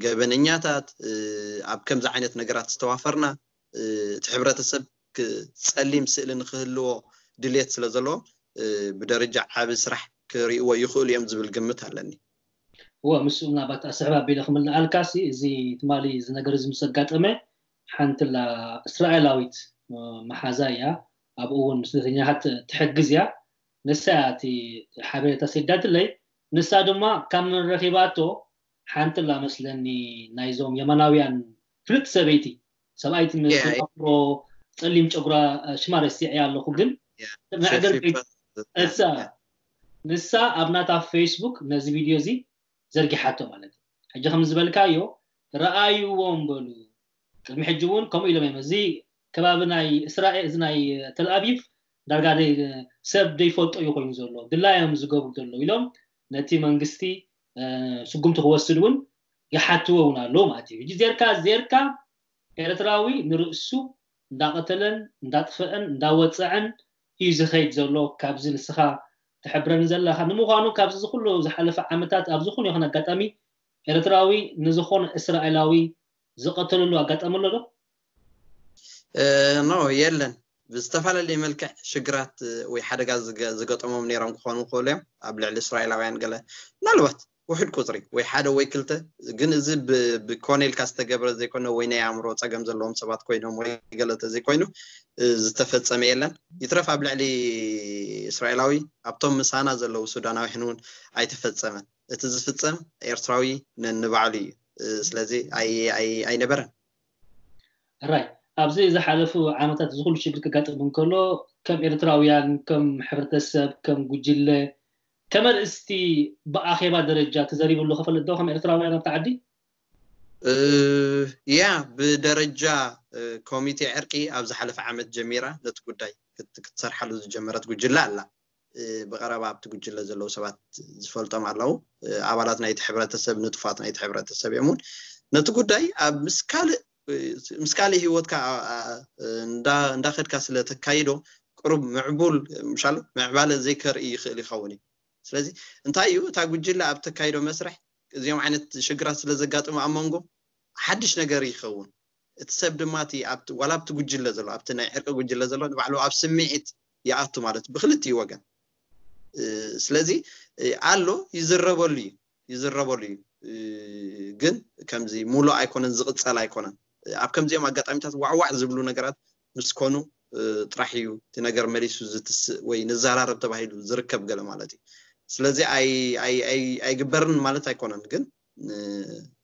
ገበነኛታት ኣብ ከምዚ ዓይነት ነገራት ዝተዋፈርና፣ እቲ ሕብረተሰብ ጸሊም ስእሊ ንክህልዎ ድልየት ስለ ዘለዎ፣ ብደረጃ ዓቢ ስራሕ ክርእይዎ ይኽእሉ እዮም ዝብል ግምት ኣለኒ። እወ፣ ምስኡ ምናልባት ኣስሕብ ኣቢለ ክምልኣልካሲ፣ እዚ ትማሊ እዚ ነገር እዚ ምስ ኣጋጠመ፣ ሓንቲ ላ እስራኤላዊት መሓዛ እያ፣ ኣብኡ እውን ስደተኛታት ትሕግዝ እያ። ንሳ እያ እቲ ሓበሬታ ሰዲዳትለይ። ንሳ ድማ ካብ መን ረኺባቶ፣ ሓንቲ ላ መስለኒ ናይዞም የማናውያን ፍልጥ ሰበይቲ፣ ሰብኣይቲ መስል ኣፍሮ ጸሊም ጨጉራ፣ ሽማ ረሲዐያ ኣለኹ፣ ግን መዕገርገይ እሳ ንሳ ኣብ ናታ ፌስቡክ ነዚ ቪድዮ እዚ ዘርጊሓቶ ማለት እዩ። ሕጂ ከም ዝበልካዮ፣ ረኣይዎም በሉ። ቅድሚ ሕጂ እውን ከምኡ ኢሎም እዮም። እዚ ከባቢ ናይ እስራኤል፣ እዚ ናይ ተልኣቪቭ ዳርጋ ሰብ ዘይፈልጦ እዩ ኮይኑ ዘሎ፣ ድላዮም ዝገብሩ ዘለዉ ኢሎም ነቲ መንግስቲ ስጉምቲ ክወስድ እውን ይሓትዎ እውን ኣለዉ ማለት እዩ። ሕጂ ዜርካ ዜርካ ኤርትራዊ ንርእሱ እንዳቐተለን እንዳጥፈአን እንዳወፀዐን እዩ ዝኸይድ ዘሎ። ካብዚ ንስኻ ትሕብረኒ ዘለኻ ንምዃኑ፣ ካብዚ ዝኩሉ ዝሓለፈ ዓመታት ኣብ ዝኾነ ይኹን ኣጋጣሚ ኤርትራዊ ንዝኾነ እስራኤላዊ ዝቐተለሉ ኣጋጣሚ ኣሎ ዶ? ኖ፣ የለን። ብዝተፈላለየ መልክዕ ሽግራት ወይ ሓደጋ ዝገጠሞም ነይሮም ክኾኑ ይኽእሉ እዮም። ኣብ ልዕሊ እስራኤላውያን ገለ ምናልባት ውሕድ ቁፅሪ ወይ ሓደ ወይ ክልተ። ግን እዚ ብኮነ ኢልካ ዝተገብረ ዘይኮነ ወይ ናይ ኣእምሮ ፀገም ዘለዎም ሰባት ኮይኖም ወይ ገለተ ዘይኮይኑ ዝተፈፀመ የለን። ይትረፍ ኣብ ልዕሊ እስራኤላዊ ኣብቶም ምሳና ዘለዉ ሱዳናውያን እውን ኣይተፈፀመን። እቲ ዝፍፀም ኤርትራዊ ነንባዕሉ እዩ። ስለዚ ኣይነበረን። ራይ ኣብዚ ዝሓለፉ ዓመታት ዝኩሉ ሽግር ክጋጥም እንከሎ ከም ኤርትራውያን ከም ሕብረተሰብ ከም ጉጅለ ከም ኣርእስቲ ብኣኼባ ደረጃ ተዘሪብሉ ክፈልጥ ዶ ከም ኤርትራውያን ኣብቲ ዓዲ? ያ ብደረጃ ኮሚቴ ዕርቂ ኣብ ዝሓለፈ ዓመት ጀሚራ ነቲ ጉዳይ ክትሰርሓሉ ዝጀመረት ጉጅለ ኣላ። ብቀረባ ኣብቲ ጉጅለ ዘለዉ ሰባት ዝፈልጦም ኣለዉ። ኣባላት ናይቲ ሕብረተሰብ ንጡፋት ናይቲ ሕብረተሰብ እዮም እውን ነቲ ጉዳይ ኣብ ምስ ካልእ ምስ ካልእ ህይወትካ እንዳኸድካ ስለ ተካይዶ ቅሩብ ምዕቡል ምሻሎ ምዕባለ ዘይከርኢ ይኽእል ይኸውን እዩ። ስለዚ እንታይ እዩ እታ ጉጅለ ኣብ ተካይዶ መስርሕ እዚኦም ዓይነት ሽግራት ስለ ዘጋጥሙ ኣብ መንጎ ሓድሽ ነገር ይኸውን። እቲ ሰብ ድማ ዋላ ኣብቲ ጉጅለ ዘሎ ኣብቲ ናይ ዕርቂ ጉጅለ ዘሎ ንባዕሉ ኣብ ስምዒት ይኣቱ ማለት ብክልቲኡ ወገን። ስለዚ ኣሎ ይዝረበሉ እዩ ይዝረበሉ እዩ። ግን ከምዚ ሙሉእ ኣይኮነን ዝቕፀል ኣይኮነን። ኣብ ከምዚኦም ኣጋጣሚታት ዋዕዋዕ ዝብሉ ነገራት ምስ ኮኑ ጥራሕ እዩ እቲ ነገር መሊሱ ዝትስእ ወይ ንዘራረብ ተባሂሉ ዝርከብ ገለ ማለት እዩ። ስለዚ ኣይግበርን ማለት ኣይኮነን፣ ግን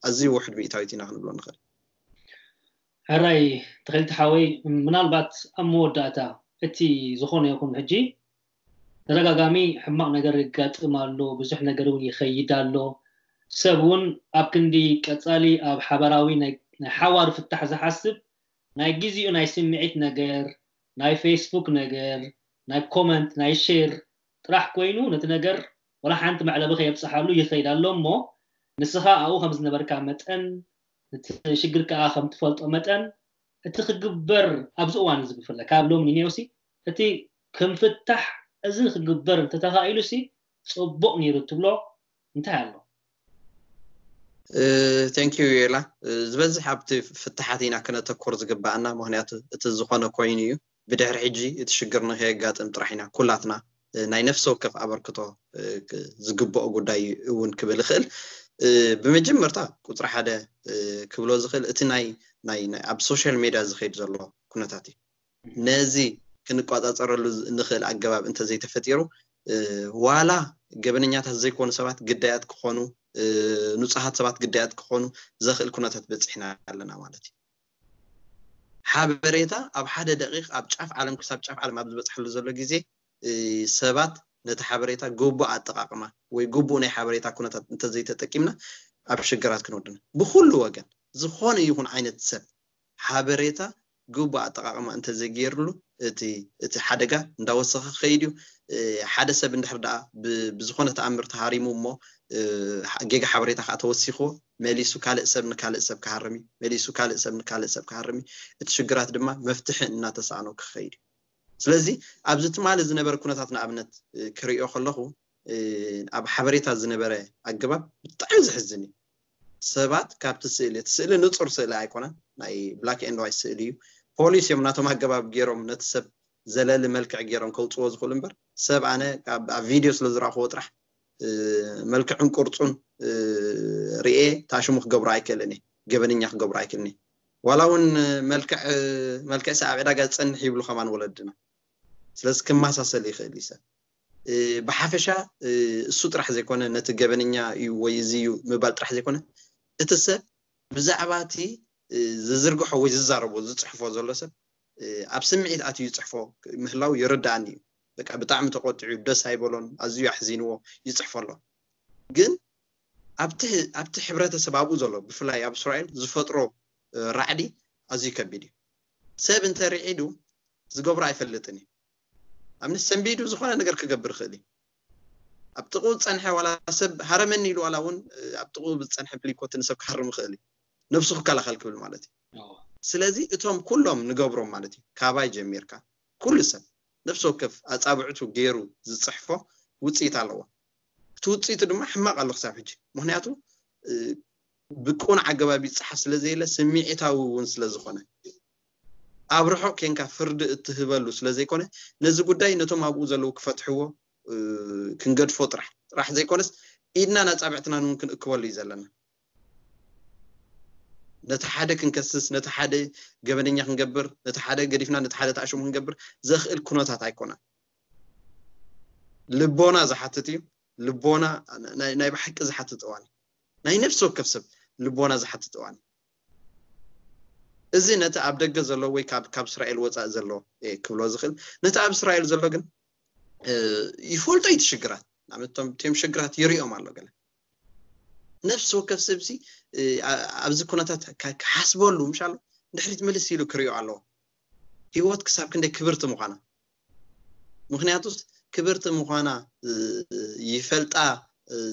ኣዝዩ ውሕድ ሚእታዊት ኢና ክንብሎ ንኽእል። ሕራይ ተኸልቲ ሓወይ፣ ምናልባት ኣብ መወዳእታ እቲ ዝኾነ ይኹን ሕጂ ተደጋጋሚ ሕማቕ ነገር ይጋጥም ኣሎ፣ ብዙሕ ነገር እውን ይኸይድ ኣሎ። ሰብ እውን ኣብ ክንዲ ቀጻሊ ኣብ ሓባራዊ ናይ ሓዋር ፍታሕ ዝሓስብ ናይ ግዜኡ ናይ ስምዒት ነገር፣ ናይ ፌስቡክ ነገር፣ ናይ ኮመንት ናይ ሼር ጥራሕ ኮይኑ ነቲ ነገር ወላ ሓንቲ መዕለቢ ከየብፅሓሉ ይኸይድ ኣሎ። እሞ ንስኻ ኣብኡ ከም ዝነበርካ መጠን እቲ ሽግር ከዓ ከም ትፈልጦ መጠን እቲ ክግበር ኣብዚ እዋን እዚ ብፍላይ ካብ ሎሚ ንኔውሲ እቲ ክምፍታሕ እዚ ክግበር እንተተኻኢሉ ሲ ፅቡቕ ነይሩ ትብሎ እንታይ ኣሎ? Thank you ዮላ። ዝበዝሕ ኣብቲ ፍትሓት ኢና ክነተኩር ዝግባኣና፣ ምክንያቱ እቲ ዝኾነ ኮይኑ እዩ። ብድሕሪ ሕጂ እቲ ሽግር ንከየጋጥም ጥራሕ ኢና ኩላትና ናይ ነፍሲ ወከፍ ኣበርክቶ ዝግብኦ ጉዳይ እውን ክብል ይኽእል። ብመጀመርታ ቁፅሪ ሓደ ክብሎ ዝኽእል እቲ ናይ ኣብ ሶሻል ሜድያ ዝኸይድ ዘሎ ኩነታት እዩ። ነዚ ክንቋፃፀረሉ ንኽእል ኣገባብ እንተዘይተፈጢሩ ዋላ ገበነኛታት ዘይኮኑ ሰባት ግዳያት ክኾኑ፣ ንፁሃት ሰባት ግዳያት ክኾኑ ዘኽእል ኩነታት በፂሕና ኣለና ማለት እዩ። ሓበሬታ ኣብ ሓደ ደቂቕ ኣብ ጫፍ ዓለም ክሳብ ጫፍ ዓለም ኣብ ዝበፅሐሉ ዘሎ ግዜ ሰባት ነቲ ሓበሬታ ግቡእ ኣጠቃቅማ ወይ ግቡእ ናይ ሓበሬታ ኩነታት እንተዘይተጠቂምና ኣብ ሽግራት ክንወድና ብኩሉ ወገን ዝኾነ ይኹን ዓይነት ሰብ ሓበሬታ ግቡእ ኣጠቃቅማ እንተዘይገይርሉ እቲ እቲ ሓደጋ እንዳወሰኸ ክኸይድ እዩ። ሓደ ሰብ እንድሕር ደኣ ብዝኾነ ተኣምር ተሃሪሙ እሞ ጌጋ ሓበሬታ ከዓ ተወሲኽዎ መሊሱ ካልእ ሰብ ንካልእ ሰብ ክሃርም እዩ። መሊሱ ካልእ ሰብ ንካልእ ሰብ ክሃርም እዩ። እቲ ሽግራት ድማ መፍትሒ እናተሳእኖ ክኸይድ እዩ። ስለዚ ኣብዚ ትማሊ ዝነበረ ኩነታት ንኣብነት ክርእዮ ከለኹ ኣብ ሓበሬታ ዝነበረ ኣገባብ ብጣዕሚ ዘሕዝን እዩ። ሰባት ካብቲ ስእሊ እቲ ስእሊ ንፁር ስእሊ ኣይኮነን፣ ናይ black and white ስእሊ እዩ። ፖሊስ እዮም ናቶም ኣገባብ ገይሮም ነቲ ሰብ ዘለሊ መልክዕ ገይሮም ከውፅዎ ዝኽእሉ እምበር ሰብ ኣነ ኣብ ቪድዮ ስለ ዝረእኽዎ ጥራሕ መልክዕን ቅርፁን ርኤ ታሽሙ ክገብሮ ኣይክእልን እየ፣ ገበነኛ ክገብሮ ኣይክእልን እየ። ዋላ እውን መልክዕ መልክዕ ኣብ ዕዳጋ ዝፀንሕ ይብሉ ከማን ወለድና። ስለዚ ክመሳሰል ይኽእል እዩ ሰብ። ብሓፈሻ እሱ ጥራሕ ዘይኮነ ነቲ ገበነኛ እዩ ወይ እዚ እዩ ምባል ጥራሕ ዘይኮነ እቲ ሰብ ብዛዕባ እቲ ዝዝርግሖ ወይ ዝዛረቦ ዝፅሕፎ ዘሎ ሰብ ኣብ ስምዒት ኣትዩ ይፅሕፎ ምህላው ይርዳኣኒ እዩ። በቃ ብጣዕሚ ተቆጢዑ ደስ ኣይበሎን ኣዝዩ ኣሕዚንዎ ይፅሕፎ ኣሎ። ግን ኣብቲ ሕብረተሰብ ኣብኡ ዘሎ ብፍላይ ኣብ እስራኤል ዝፈጥሮ ራዕዲ ኣዝዩ ከቢድ እዩ። ሰብ እንተርዒዱ ዝገብሮ ኣይፈልጥን እዩ። ኣብነት ሰንቢዱ ዝኾነ ነገር ክገብር ይኽእል እዩ። ኣብ ጥቕኡ ዝፀንሐ ዋላ ሰብ ሃረመኒ ኢሉ ዋላ እውን ኣብ ጥቕኡ ብዝፀንሐ ብሊኮት ንሰብ ክሃርም ይኽእል እዩ። ነብሱ ክከላኸል ክብል ማለት እዩ። ስለዚ እቶም ኩሎም ንገብሮም ማለት እዩ ካባይ ጀሚርካ ኩሉ ሰብ ነፍሲ ወከፍ ኣፃብዕቱ ገይሩ ዝፅሕፎ ውፅኢት ኣለዎ። እቲ ውፅኢቱ ድማ ሕማቕ ኣሎ ክሳብ ሕጂ። ምክንያቱ ብቁኑዕ ኣገባብ ይፀሓፍ ስለ ዘየለ ስምዒታዊ እውን ስለ ዝኾነ ኣብ ርሑቕ ኬንካ ፍርዲ እትህበሉ ስለ ዘይኮነ ነዚ ጉዳይ ነቶም ኣብኡ ዘለዉ ክፈትሕዎ ክንገድፎ ጥራሕ ጥራሕ ዘይኮነስ ኢድናን ኣፃብዕትናን እውን ክንእክበሉ እዩ ዘለና። ነቲ ሓደ ክንከስስ፣ ነቲ ሓደ ገበነኛ ክንገብር፣ ነቲ ሓደ ገዲፍና ነቲ ሓደ ተኣሽሙ ክንገብር ዘኽእል ኩነታት ኣይኮነን። ልቦና ዝሓትት እዩ። ልቦና ናይ ብሓቂ ዝሓትት እዋን፣ ናይ ነፍሲ ወከፍ ሰብ ልቦና ዝሓትት እዋን። እዚ ነቲ ኣብ ደገ ዘሎ ወይ ካብ እስራኤል ወፃኢ ዘሎ ክብሎ ዝኽእል፣ ነቲ ኣብ እስራኤል ዘሎ ግን ይፈልጦ እዩ። ሽግራት ናመቶም ቶም ሽግራት ይሪኦም ኣሎ። ገለ ነፍሲ ወከፍ ሰብሲ ኣብዚ ኩነታት ክሓስበሉ ምሻሎ ድሕሪት ምልስ ኢሉ ክሪኦ ኣለዎ። ህይወት ክሳብ ክንደይ ክብርቲ ምዃና፣ ምክንያቱስ ክብርቲ ምዃና ይፈልጣ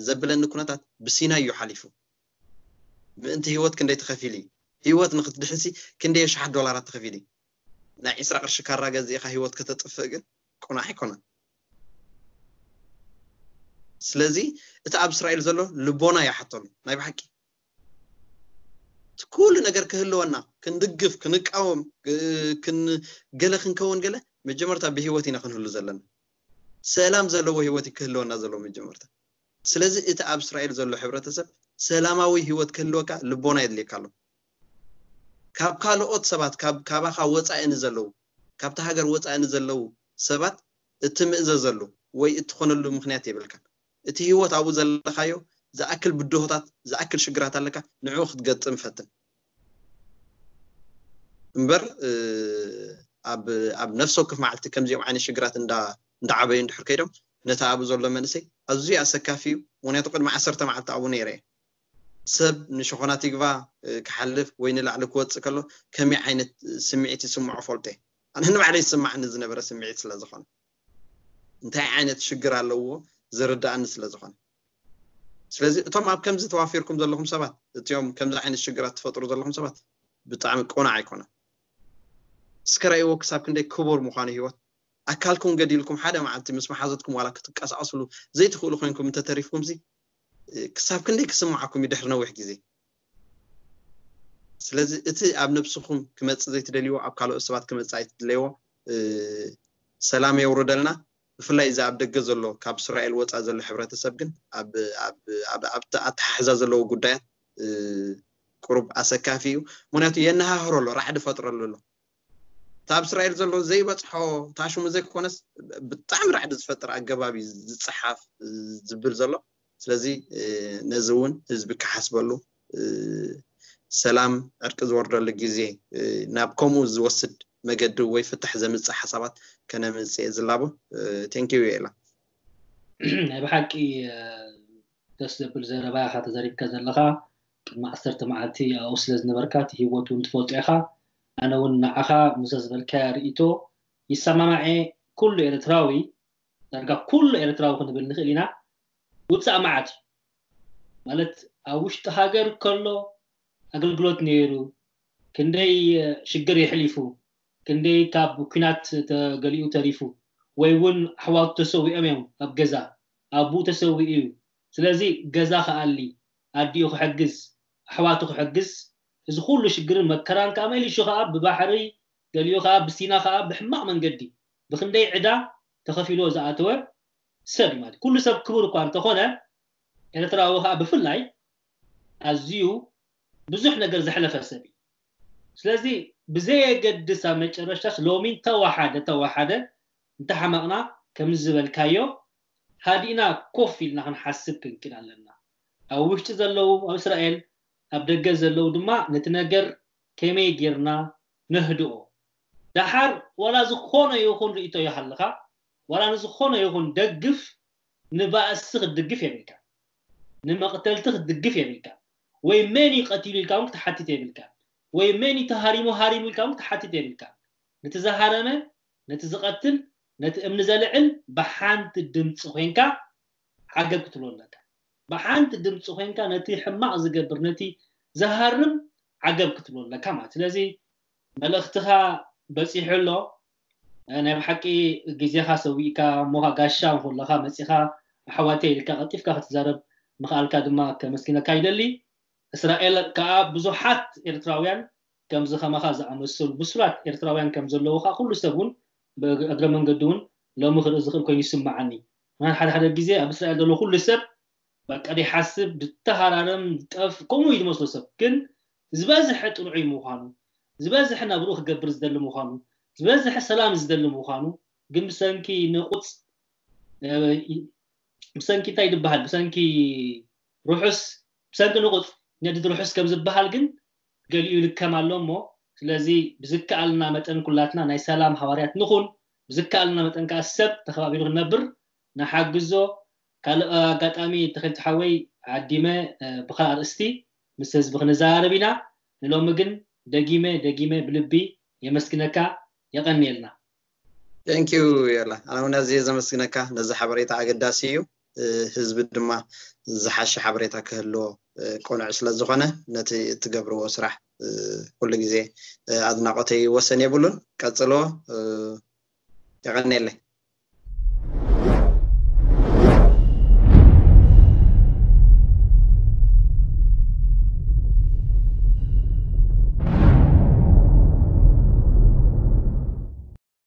ዘብለኒ ኩነታት ብሲና እዩ ሓሊፉ። ምእንቲ ህይወት ክንደይ ትኸፊል እዩ። ህይወት ንክትድሕንሲ ክንደይ ሸሓት ዶላራት ትኸፊል እዩ። ናይ ዕስራ ቅርሺ ካራ ገዚእኻ ህይወት ከተጥፍእ ግን ቁናሕ ኣይኮነን። ስለዚ እቲ ኣብ እስራኤል ዘሎ ልቦና ይሓተሉ ናይ ብሓቂ እቲ ኩሉ ነገር ክህልወና ክንድግፍ ክንቃወም ገለ ክንከውን ገለ መጀመርታ ብህይወት ኢና ክንህሉ ዘለና። ሰላም ዘለዎ ህይወት ክህልወና ዘለዎ መጀመርታ። ስለዚ እቲ ኣብ እስራኤል ዘሎ ሕብረተሰብ ሰላማዊ ህይወት ክህልወካ ልቦና የድልየካ ኣሎ። ካብ ካልኦት ሰባት ካባኻ ወፃኢ ንዘለዉ ካብቲ ሃገር ወፃኢ ንዘለዉ ሰባት እትምእዘዘሉ ወይ እትኾነሉ ምክንያት የብልካን። እቲ ህይወት ኣብኡ ዘለኻዮ ዝኣክል ብድሆታት ዝኣክል ሽግራት ኣለካ፣ ንዕኡ ክትገጥም ፈትን እምበር ኣብ ነፍሲ ወከፍ መዓልቲ ከምዚኦም ዓይነት ሽግራት እንዳዓበዩ እንድሕር ከይዶም ነቲ ኣብኡ ዘሎ መንእሰይ ኣዝዩ ኣሰካፊ እዩ። ምክንያቱ ቅድሚ ዓሰርተ መዓልቲ ኣብኡ ነይረ እየ። ሰብ ንሸኾናት ይግባ ክሓልፍ ወይ ንላዕሊ ክወፅእ ከሎ ከመይ ዓይነት ስምዒት ይስምዖ ፈልጦ እየ። ኣነ ንባዕለይ ዝስማዓኒ ዝነበረ ስምዒት ስለ ዝኾነ እንታይ ዓይነት ሽግር ኣለዎ ዝርዳእኒ ስለ ዝኾነ። ስለዚ እቶም ኣብ ከምዚ ተዋፊርኩም ዘለኹም ሰባት፣ እቲኦም ከምዚ ዓይነት ሽግራት ትፈጥሩ ዘለኹም ሰባት ብጣዕሚ ቅኑዕ ኣይኮነን። እስከ ራእይዎ ክሳብ ክንደይ ክቡር ምዃኑ ህይወት። ኣካልኩም ገዲልኩም ሓደ መዓልቲ ምስ መሓዘትኩም ዋላ ክትንቀሳቐስሉ ዘይትኽእሉ ኮይንኩም እንተተሪፍኩም ዚ ክሳብ ክንደይ ክስምዓኩም እዩ ድሕሪ ነዊሕ ግዜ። ስለዚ እቲ ኣብ ነብስኹም ክመፅእ ዘይትደልይዎ ኣብ ካልኦት ሰባት ክመፅእ ኣይትድለይዎ። ሰላም የውርደልና። ብፍላይ እዚ ኣብ ደገ ዘሎ ካብ እስራኤል ወፃ ዘሎ ሕብረተሰብ ግን ኣብቲ ኣተሓሕዛ ዘለዎ ጉዳያት ቁሩብ ኣሰካፊ እዩ። ምክንያቱ የነሃህሮ ኣሎ፣ ራዕዲ ፈጥረሉ ኣሎ። እታ ኣብ እስራኤል ዘሎ ዘይበፅሖ ታሽሙ ዘይኮነስ ብጣዕሚ ራዕዲ ዝፈጥር ኣገባብ እዩ ዝፀሓፍ ዝብል ዘሎ። ስለዚ ነዚ እውን ህዝቢ ክሓስበሉ፣ ሰላም ዕርቂ ዝወርደሉ ግዜ ናብ ከምኡ ዝወስድ መገዲ ወይ ፍታሕ ዘምፅእ ሓሳባት ከነምፅእ ዝላቦ። ቴንኪዩ የላ። ናይ ብሓቂ ደስ ዘብል ዘረባ ኢኻ ተዘሪብካ ዘለኻ። ቅድሚ ዓሰርተ መዓልቲ ኣብኡ ስለ ዝነበርካ እቲ ህይወት እውን ትፈልጦ ኢኻ። ኣነ እውን ንዓኻ ምዘ ዝበልካያ ርእይቶ ይሰማማዐ። ኩሉ ኤርትራዊ ዳርጋ ኩሉ ኤርትራዊ ክንብል ንኽእል ኢና። ውፃእ መዓት እዩ ማለት ኣብ ውሽጢ ሃገር ከሎ ኣገልግሎት ነይሩ፣ ክንደይ ሽግር የሕሊፉ፣ ክንደይ ካብ ኩናት ተገሊኡ ተሪፉ፣ ወይ እውን ኣሕዋቱ ተሰዊኦም እዮም ኣብ ገዛ፣ ኣቡኡ ተሰዊኡ እዩ። ስለዚ ገዛ ክኣሊ፣ ኣዲኡ ክሕግዝ፣ ኣሕዋቱ ክሕግዝ፣ እዚ ኩሉ ሽግርን መከራን ከዓ መሊሹ ከዓ ብባሕሪ ገሊኡ ከዓ ብሲና ከዓ ብሕማቕ መንገዲ ብክንደይ ዕዳ ተኸፊልዎ ዝኣተወ ሰብ እዩ ማለት ኩሉ ሰብ ክቡር እኳ እንተኾነ ኤርትራዊ ከዓ ብፍላይ ኣዝዩ ብዙሕ ነገር ዘሕለፈ ሰብ እዩ። ስለዚ ብዘየገድስ ኣብ መጨረሽታስ ሎሚ እንተወሓደ ተወሓደ እንተሓመቕና ከምዚ ዝበልካዮ ሃዲእና ኮፍ ኢልና ክንሓስብ ክንክእል ኣለና። ኣብ ውሽጢ ዘለዉ ኣብ እስራኤል ኣብ ደገ ዘለዉ ድማ ነቲ ነገር ከመይ ጌርና ነህድኦ። ደሓር ዋላ ዝኾነ ይኹን ርእቶ ይሃልኻ ዋላ ንዝኾነ ይኹን ደግፍ ንባእሲ ክትድግፍ የብልካ፣ ንመቕተልቲ ክትድግፍ የብልካ፣ ወይ መን እዩ ቀቲሉ ኢልካ እውን ክትሓትት የብልካ፣ ወይ መን እዩ ተሃሪሙ ሃሪሙ ኢልካ እውን ክትሓትት የብልካ። ነቲ ዝሃረመ፣ ነቲ ዝቐትል፣ ነቲ እምኒ ዘልዕል ብሓንቲ ድምፂ ኮይንካ ዓገብ ክትብሎ ኣለካ። ብሓንቲ ድምፂ ኮይንካ ነቲ ሕማቕ ዝገብር ነቲ ዝሃርም ዓገብ ክትብሎ ኣለካ ማለት ስለዚ መልእኽትኻ በፂሑ ኣሎ። ናይ ብሓቂ ግዜኻ ሰዊእካ እሞኻ ጋሻ ከለኻ መፂኻ ኣሕዋተይ ኢልካ ቀልጢፍካ ክትዛረብ ምኽኣልካ ድማ ከመስግነካ ይደሊ። እስራኤል ከዓ ብዙሓት ኤርትራውያን ከምዚ ከማኻ ዝኣመሰሉ ብሱላት ኤርትራውያን ከም ዘለዉ ከዓ ኩሉ ሰብ እውን እግረ መንገዲ እውን ሎሚ ክርኢ ዝኽእል ኮይኑ ይስምዓኒ። ምናልባት ሓደ ሓደ ግዜ ኣብ እስራኤል ዘሎ ኩሉ ሰብ በቃ ዘይሓስብ፣ ዝተሃራረም፣ ዝጠፍ ከምኡ እዩ ዝመስሎ ሰብ። ግን ዝበዝሐ ጥንዑይ ምዃኑ፣ ዝበዝሐ ናብርኡ ክገብር ዝደሊ ምዃኑ፣ ዝበዝሐ ሰላም ዝደሊ ምዃኑ፣ ግን ብሰንኪ ንቑፅ ብሰንኪ እንታይ ይበሃል፣ ብሰንኪ ርሑስ፣ ብሰንኪ ንቑፅ ነድድ ርሑስ ከም ዝበሃል ግን ገሊኡ ይልከም ኣሎ እሞ፣ ስለዚ ብዝከኣልና መጠን ኩላትና ናይ ሰላም ሃዋርያት ንኹን። ብዝከኣልና መጠን ከዓ ሰብ ተኸባቢሩ ክንነብር ንሓግዞ። ካልእ ኣጋጣሚ ተኸልቲ ሓወይ ዓዲመ ብካ ኣርእስቲ ምስ ህዝቢ ክንዘራረብ ኢና። ንሎሚ ግን ደጊመ ደጊመ ብልቢ የመስግነካ። የቐንየልና። Thank you። የላ ኣነ እውን ኣዝየ ዘመስግነካ። ነዚ ሓበሬታ ኣገዳሲ እዩ። ህዝቢ ድማ ዝሓሸ ሓበሬታ ክህልዎ ቅኑዕ ስለ ዝኾነ ነቲ እትገብርዎ ስራሕ ኩሉ ግዜ ኣድናቆተይ ወሰን የብሉን። ቀጽልዎ። የቐንየለይ።